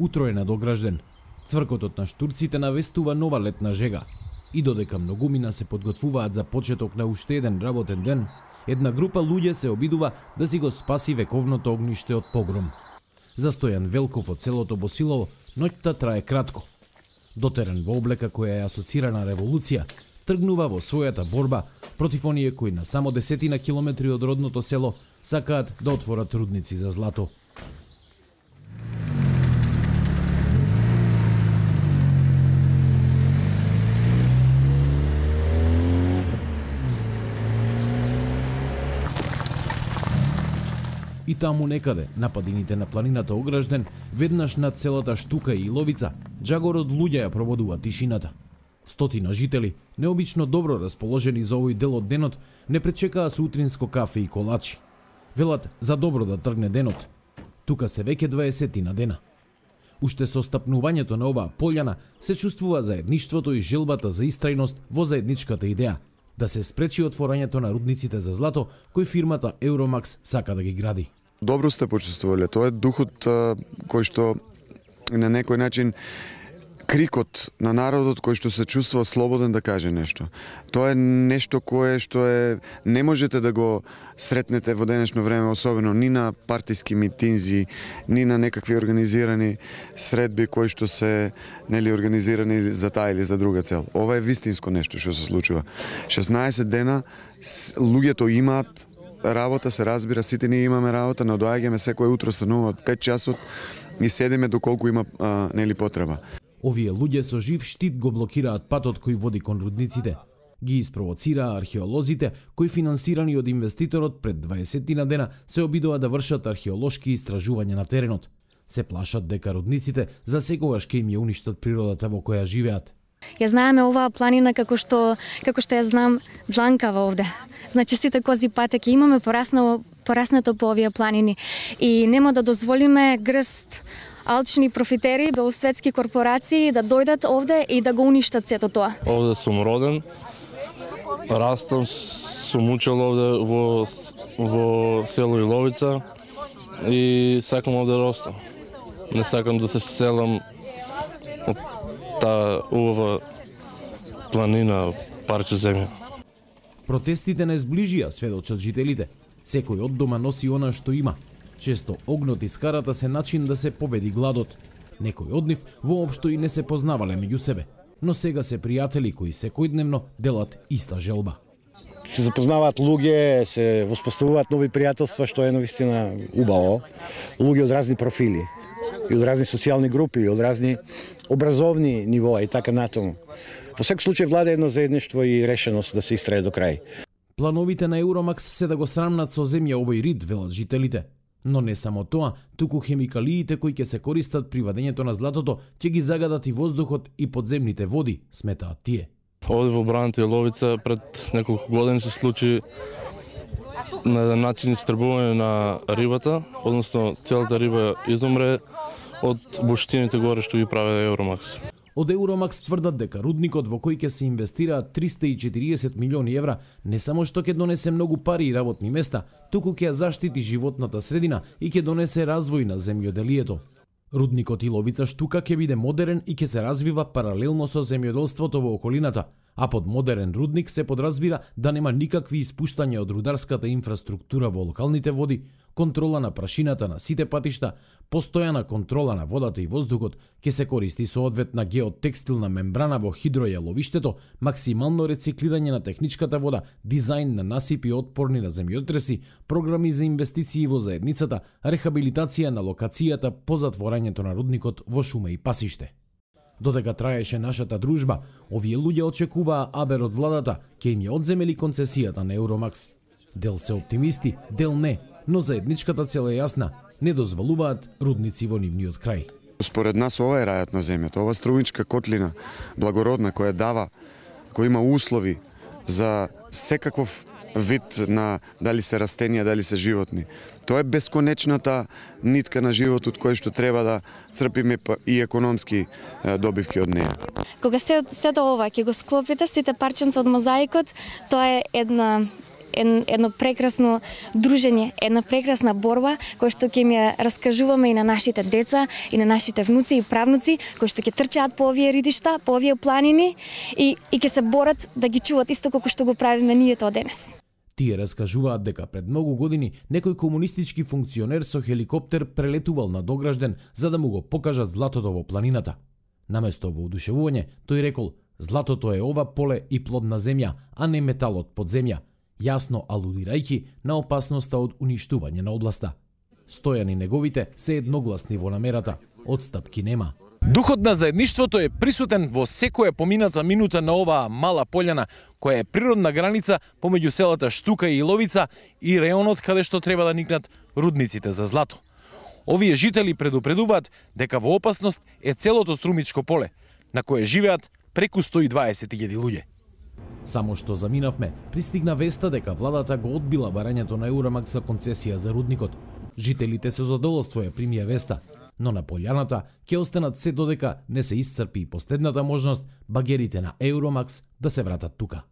Утро е надогражден. Цвркотот на штурците навестува нова летна жега. И додека многумина се подготвуваат за почеток на уште еден работен ден, една група луѓе се обидува да си го спаси вековното огниште од погром. За Стојан Велков од селото Босилово, ноќта трае кратко. Дотерен во облека која е асоцирана револуција, тргнува во својата борба против оние кои на само 10 километри од родното село сакаат да отворат рудници за злато. И таму некаде, на падините на планината Огражден, веднаш над целата Штука и Иловица, джагор од луѓе ја проводува тишината. Стотина жители, необично добро расположени за овој дел од денот, не пречекаа сутринско кафе и колачи. Велат за добро да тргне денот. Тука се веќе 20 дена. Уште со стапнувањето на оваа полјана се чувствува заедништвото и желбата за истрајност во заедничката идеја да се спречи отворањето на рудниците за злато кој фирмата Euromax сака да ги гради. Добро сте почувствувале. Тоа е духот кој што на некој начин крикот на народот кој што се чувствува слободен да каже нешто. Тоа е нешто кое што не можете да го сретнете во денешно време, особено ни на партиски митинзи, ни на некакви организирани средби кои што се организирани за таа или за друга цел. Ова е вистинско нешто што се случува. 16 дена луѓето имаат работа, се разбира, сите ние имаме работа, но доаѓаме секој утро станува од 5 часот и седиме доколку има потреба. Овие луѓе со жив штит го блокираат патот кој води кон рудниците. Ги испровоцираа археолозите кои финансирани од инвеститорот пред 20 дена се обидува да вршат археолошки истражувања на теренот. Се плашат дека рудниците за секогаш ќе им ја уништат природата во која живеат. Ја знаеме оваа планина како што ја знам дланкава овде. Значи сите кози патеки имаме пораснато по овие планини и нема да дозволиме грст алчни профитери, белосветски корпорации да дојдат овде и да го уништат сето тоа. Овде сум роден, растам, сум учел овде во село Иловица и сакам овде да растам. Не сакам да се селам од таа убава планина, парче земја. Протестите не зближија, сведочат жителите. Секој од дома носи она што има. Често огнот и скарата се начин да се победи гладот. Некои од нив воопшто и не се познавале меѓу себе, но сега се пријатели кои секојдневно делат иста желба. Се запознаваат луѓе, се воспоставуваат нови пријателства, што е навистина убаво. Луѓе од разни профили, и од разни социјални групи, и од разни образовни нивоа и така натаму. Во секој случај владе едно заедништво и решеност да се истрае до крај. Плановите на Euromax се да го срамнат со земја овој рид, велат жителите. Но не само тоа, туку хемикалиите кои ќе се користат при вадењето на златото ќе ги загадат и воздухот и подземните води, сметаат тие. Овде во Браната Иловица пред неколку години се случи на еден начин истребување на рибата, односно целата риба изумре од буштините горе што ги прави Euromax. Од Euromax тврдат дека рудникот во кој ќе се инвестираат 340 милиони евра не само што ќе донесе многу пари и работни места, туку ќе заштити животната средина и ќе донесе развој на земјоделието. Рудникот Иловица Штука ќе биде модерен и ќе се развива паралелно со земјоделството во околината, а под модерен рудник се подразбира да нема никакви испуштања од рударската инфраструктура во локалните води, контрола на прашината на сите патишта, постојана контрола на водата и воздухот, ќе се користи соодветна геотекстилна мембрана во хидројаловиштето, максимално рециклирање на техничката вода, дизајн на насипи отпорни на земјотреси, програми за инвестиции во заедницата, рехабилитација на локацијата по затворањето на рудникот во шума и пасиште. Додека траеше нашата дружба, овие луѓе очекуваа абер од владата, ќе им ја одземели концесијата на Euromax. Дел се оптимисти, дел не, но заедничката цел е јасна, не дозволуваат рудници во нивниот крај. Според нас ова е рајот на земјата, ова струмичка котлина, благородна, која дава, која има услови за секаков вид на дали се растенија, дали се животни. Тоа е бесконечната нитка на животот кој што треба да црпиме и економски добивки од неја. Кога сето ова ќе го склопите, сите парченца од мозаикот, тоа е едно прекрасно дружење, една прекрасна борба која што ќе ми раскажуваме и на нашите деца и на нашите внуци и правнуци кои што ќе трчаат по овие ридишта, по овие планини и ќе се борат да ги чуват исто како што го правиме ние тоа денес. Тие раскажуваат дека пред многу години некој комунистички функционер со хеликоптер прелетувал на Догражден за да му го покажат златото во планината. Наместо воодушевување, тој рекол: "Златото е ова поле и плодна земја, а не металот под земја", јасно алудирајќи на опасноста од уништување на областа. Стојан и неговите се едногласни во намерата, одстапки нема. Духот на заедништвото е присутен во секоја помината минута на оваа мала пољана, која е природна граница помеѓу селата Штука и Иловица и реонот каде што треба да никнат рудниците за злато. Овие жители предупредуваат дека во опасност е целото Струмичко поле, на кое живеат преку 120.000 луѓе. Само што заминавме, пристигна веста дека владата го одбила барањето на Еурамакс за концесија за рудникот. Жителите со задоволство ја примија веста, но на полјаната ќе останат се додека не се исцрпи последната можност багерите на Еурамакс да се вратат тука.